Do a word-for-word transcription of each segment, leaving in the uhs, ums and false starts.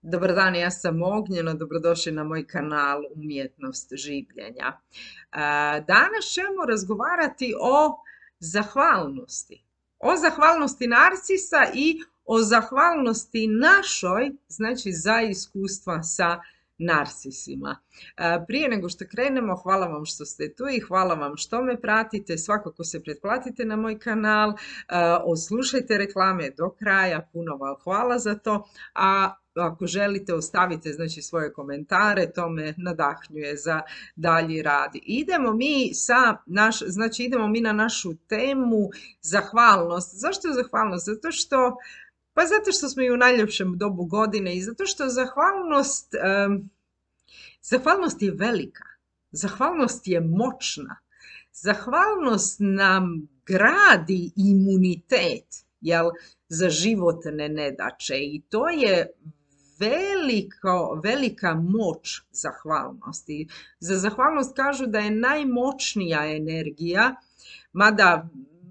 Dobar dan, ja sam Ognjeno, dobrodošli na moj kanal Umjetnost življenja. Danas ćemo razgovarati o zahvalnosti. O zahvalnosti narcisa i o zahvalnosti našoj, znači za iskustva sa narcisima. Prije nego što krenemo, hvala vam što ste tu i hvala vam što me pratite. Svakako se pretplatite na moj kanal, odslušajte reklame do kraja, puno vam hvala za to. A ako želite, ostavite znači svoje komentare, to me nadahnjuje za dalji rad. Idemo mi sa naš, znači idemo mi na našu temu zahvalnost. Zašto je zahvalnost? Zato što Pa zato što smo i u najljepšem dobu godine i zato što zahvalnost, um, zahvalnost je velika, zahvalnost je moćna, zahvalnost nam gradi imunitet, jel, za životne nedaće i to je veliko, velika moć zahvalnosti. Za zahvalnost kažu da je najmoćnija energija, mada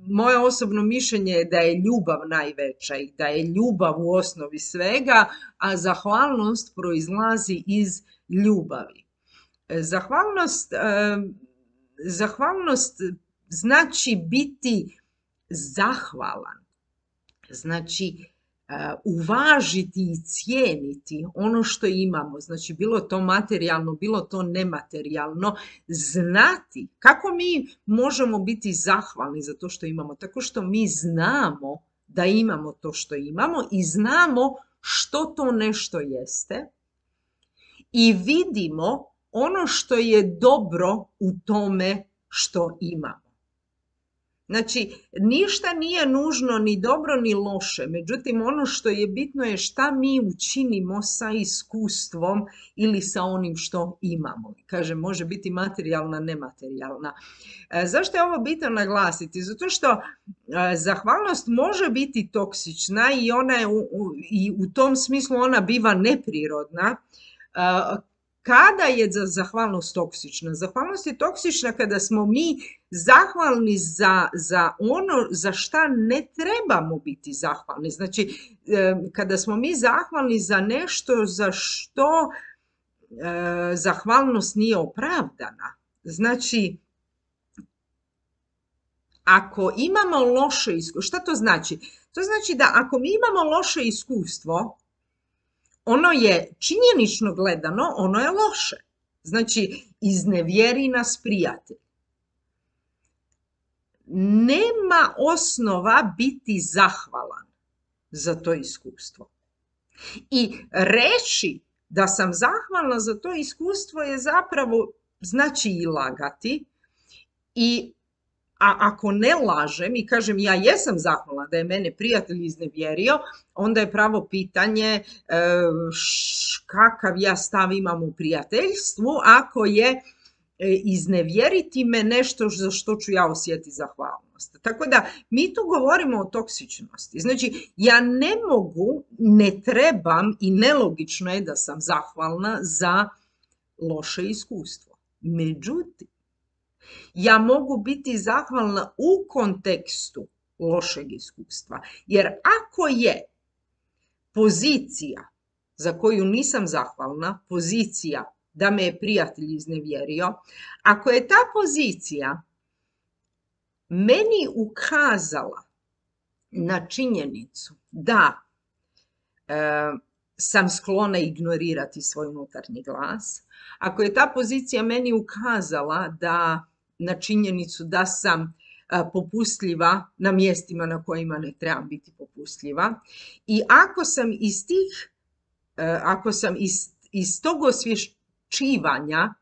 moje osobno mišljenje je da je ljubav najveća i da je ljubav u osnovi svega, a zahvalnost proizlazi iz ljubavi. Zahvalnost, zahvalnost znači biti zahvalan, znači uvažiti i cijeniti ono što imamo, znači bilo to materijalno, bilo to nematerijalno, znati kako mi možemo biti zahvalni za to što imamo, tako što mi znamo da imamo to što imamo i znamo što to nešto jeste i vidimo ono što je dobro u tome što imamo. Znači, ništa nije nužno ni dobro ni loše, međutim ono što je bitno je šta mi učinimo sa iskustvom ili sa onim što imamo. Kaže, može biti materijalna, nematerijalna. E, zašto je ovo bitno naglasiti? Zato što e, zahvalnost može biti toksična i ona je u, u, i u tom smislu ona biva neprirodna. E, Kada je zahvalnost toksična? Zahvalnost je toksična kada smo mi zahvalni za, za ono za šta ne trebamo biti zahvalni. Znači, kada smo mi zahvalni za nešto za što e, zahvalnost nije opravdana. Znači, ako imamo loše iskustvo, šta to znači? To znači da ako mi imamo loše iskustvo, ono je činjenično gledano, ono je loše. Znači, iznevjeri nas prijatelj. Nema osnova biti zahvalan za to iskustvo. I reći da sam zahvalna za to iskustvo je zapravo, znači i lagati. I A ako ne lažem i kažem ja jesam zahvalna da je mene prijatelj iznevjerio, onda je pravo pitanje š, kakav ja stav imam u prijateljstvu ako je iznevjeriti me nešto za što ću ja osjetiti zahvalnost. Tako da mi tu govorimo o toksičnosti. Znači ja ne mogu, ne trebam i nelogično je da sam zahvalna za loše iskustvo. Međutim, ja mogu biti zahvalna u kontekstu lošeg iskustva. Jer ako je pozicija za koju nisam zahvalna, pozicija da me je prijatelj iznevjerio, ako je ta pozicija meni ukazala na činjenicu da e, sam sklona ignorirati svoj unutarnji glas, ako je ta pozicija meni ukazala da na činjenicu da sam popustljiva na mjestima na kojima ne trebam biti popustljiva i ako sam iz tih, ako sam iz, iz tog osvješćivanja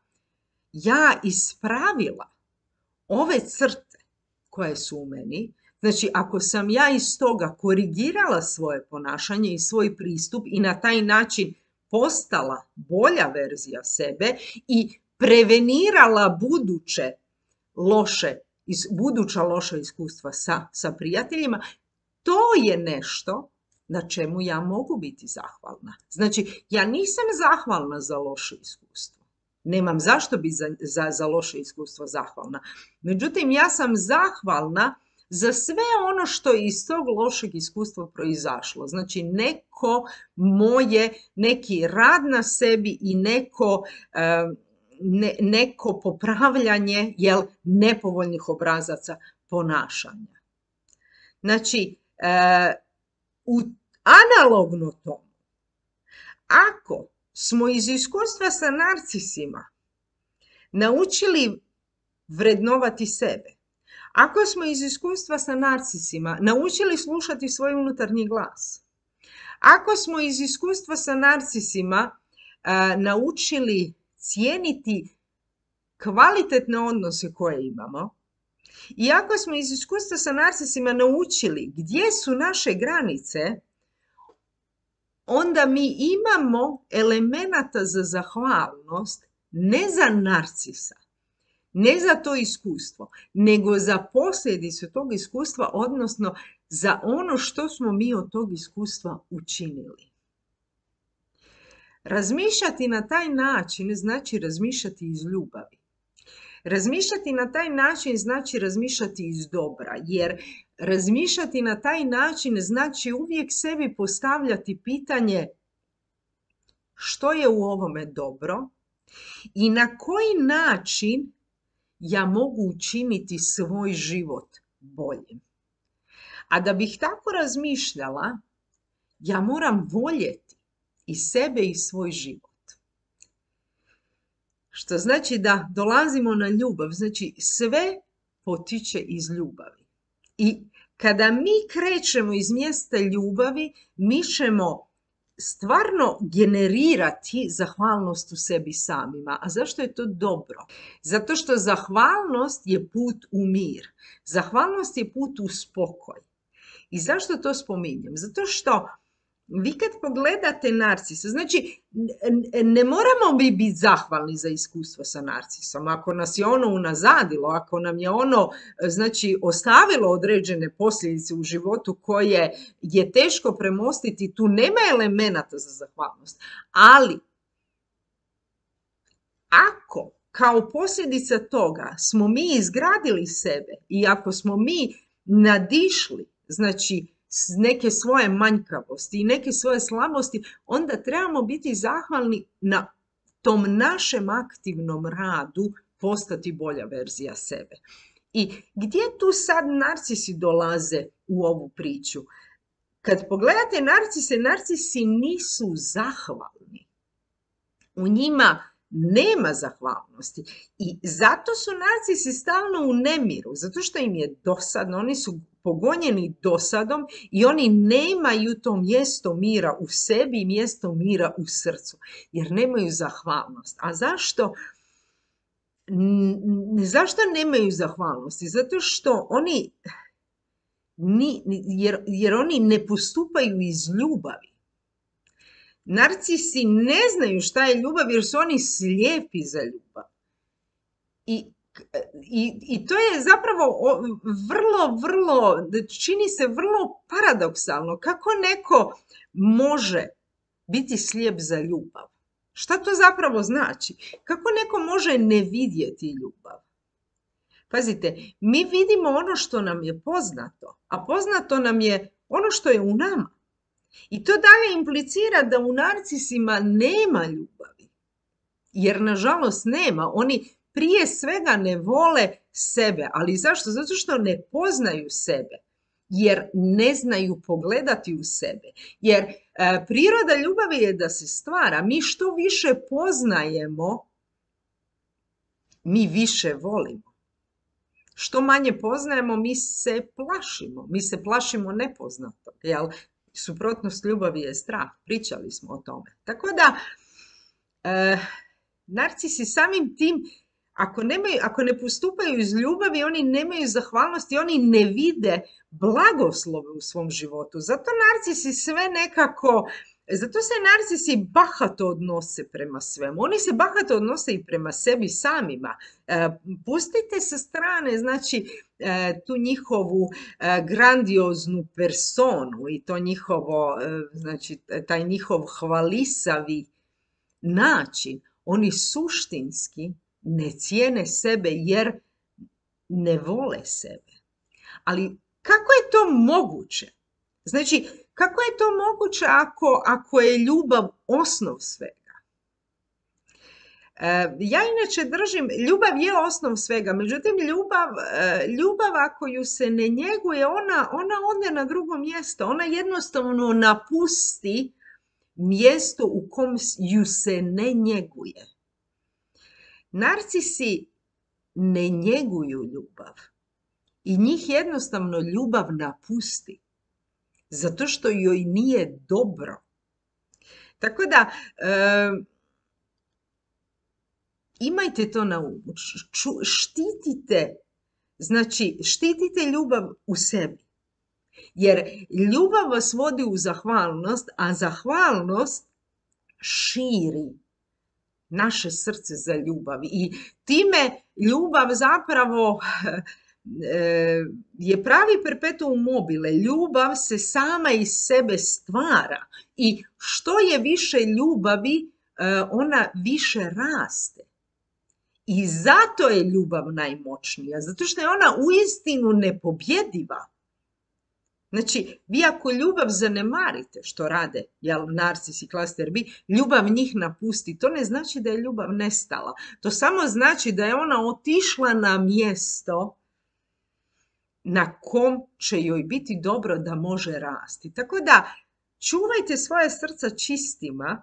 ja ispravila ove crte koje su u meni, znači ako sam ja iz toga korigirala svoje ponašanje i svoj pristup i na taj način postala bolja verzija sebe i prevenirala buduće loše, buduća loša iskustva sa, sa prijateljima, to je nešto na čemu ja mogu biti zahvalna. Znači, ja nisam zahvalna za loše iskustvo. Nemam zašto biti za, za, za loše iskustvo zahvalna. Međutim, ja sam zahvalna za sve ono što je iz tog lošeg iskustva proizašlo. Znači neko moje, neki rad na sebi i neko, ne, neko popravljanje jel, nepovoljnih obrazaca ponašanja. Znači, u analogno tomu, ako smo iz iskustva sa narcisima naučili vrednovati sebe, ako smo iz iskustva sa narcisima naučili slušati svoj unutarnji glas, ako smo iz iskustva sa narcisima a, naučili cijeniti kvalitetne odnose koje imamo, i ako smo iz iskustva sa narcisima naučili gdje su naše granice, onda mi imamo elemenata za zahvalnost ne za narcisa, ne za to iskustvo, nego za posljedicu tog iskustva, odnosno za ono što smo mi od tog iskustva učinili. Razmišljati na taj način znači razmišljati iz ljubavi. Razmišljati na taj način znači razmišljati iz dobra, jer razmišljati na taj način znači uvijek sebi postavljati pitanje što je u ovome dobro i na koji način ja mogu učiniti svoj život boljim. A da bih tako razmišljala, ja moram voljeti i sebe i svoj život. Što znači da dolazimo na ljubav, znači sve potiče iz ljubavi. I kada mi krećemo iz mjesta ljubavi, mi ćemo stvarno generirati zahvalnost u sebi samima. A zašto je to dobro? Zato što zahvalnost je put u mir. Zahvalnost je put u spokoj. I zašto to spominjem? Zato što vi kad pogledate narcisa, znači ne moramo mi biti zahvalni za iskustvo sa narcisom. Ako nas je ono unazadilo, ako nam je ono znači ostavilo određene posljedice u životu koje je teško premostiti, tu nema elemenata za zahvalnost. Ali ako kao posljedica toga smo mi izgradili sebe i ako smo mi nadišli, znači neke svoje manjkavosti i neke svoje slabosti, onda trebamo biti zahvalni na tom našem aktivnom radu postati bolja verzija sebe. I gdje tu sad narcisi dolaze u ovu priču? Kad pogledate narcise, narcisi nisu zahvalni. U njima nema zahvalnosti. I zato su narcisi stalno u nemiru, zato što im je dosadno, oni su pogonjeni dosadom i oni nemaju to mjesto mira u sebi i mjesto mira u srcu, jer nemaju zahvalnost. A zašto? Zašto nemaju zahvalnosti? Zato što oni, jer, jer oni ne postupaju iz ljubavi. Narcisi ne znaju šta je ljubav jer su oni slijepi za ljubav. I I, I to je zapravo vrlo, vrlo, čini se vrlo paradoksalno. Kako neko može biti slijep za ljubav? Šta to zapravo znači? Kako neko može ne vidjeti ljubav? Pazite, mi vidimo ono što nam je poznato, a poznato nam je ono što je u nama. I to dalje implicira da u narcisima nema ljubavi. Jer nažalost nema. Oni prije svega ne vole sebe. Ali zašto? Zato što ne poznaju sebe. Jer ne znaju pogledati u sebe. Jer e, priroda ljubavi je da se stvara. Mi što više poznajemo, mi više volimo. Što manje poznajemo, mi se plašimo. Mi se plašimo nepoznatog. Jel? Suprotnost ljubavi je strah. Pričali smo o tome. Tako da, e, narcisi samim tim, Ako, nemaju, ako ne postupaju iz ljubavi, oni nemaju zahvalnosti, oni ne vide blagoslove u svom životu. Zato narcisi sve nekako, zato se narcisi bahato odnose prema svemu. Oni se bahato odnose i prema sebi samima. E, pustite sa strane, znači, e, tu njihovu e, grandioznu personu i to njihovo, e, znači, taj njihov hvalisavi način. Oni suštinski ne cijene sebe jer ne vole sebe. Ali kako je to moguće? Znači, kako je to moguće ako, ako je ljubav osnov svega? Ja inače držim, ljubav je osnov svega, međutim ljubav, ljubav ako ju se ne njeguje, ona, ona ode na drugo mjesto, ona jednostavno napusti mjesto u kom ju se ne njeguje. Narcisi ne njeguju ljubav i njih jednostavno ljubav napusti, zato što joj nije dobro. Tako da, e, imajte to na umu, štitite, znači štitite ljubav u sebi. Jer ljubav vas vodi u zahvalnost, a zahvalnost širi naše srce za ljubav. I time ljubav zapravo je pravi perpetuum mobile. Ljubav se sama iz sebe stvara. I što je više ljubavi, ona više raste. I zato je ljubav najmoćnija, zato što je ona uistinu nepobjediva. Znači, vi ako ljubav zanemarite, što rade jel, narcis i klaster B, ljubav njih napusti. To ne znači da je ljubav nestala. To samo znači da je ona otišla na mjesto na kom će joj biti dobro da može rasti. Tako da, čuvajte svoje srca čistima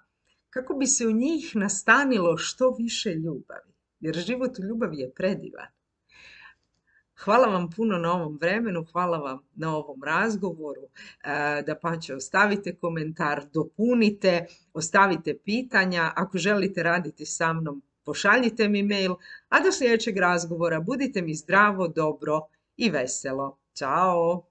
kako bi se u njih nastanilo što više ljubavi. Jer život u ljubavi je predivan. Hvala vam puno na ovom vremenu, hvala vam na ovom razgovoru. Dapače, ostavite komentar, dopunite, ostavite pitanja. Ako želite raditi sa mnom, pošaljite mi mail. A do sljedećeg razgovora budite mi zdravo, dobro i veselo. Ćao!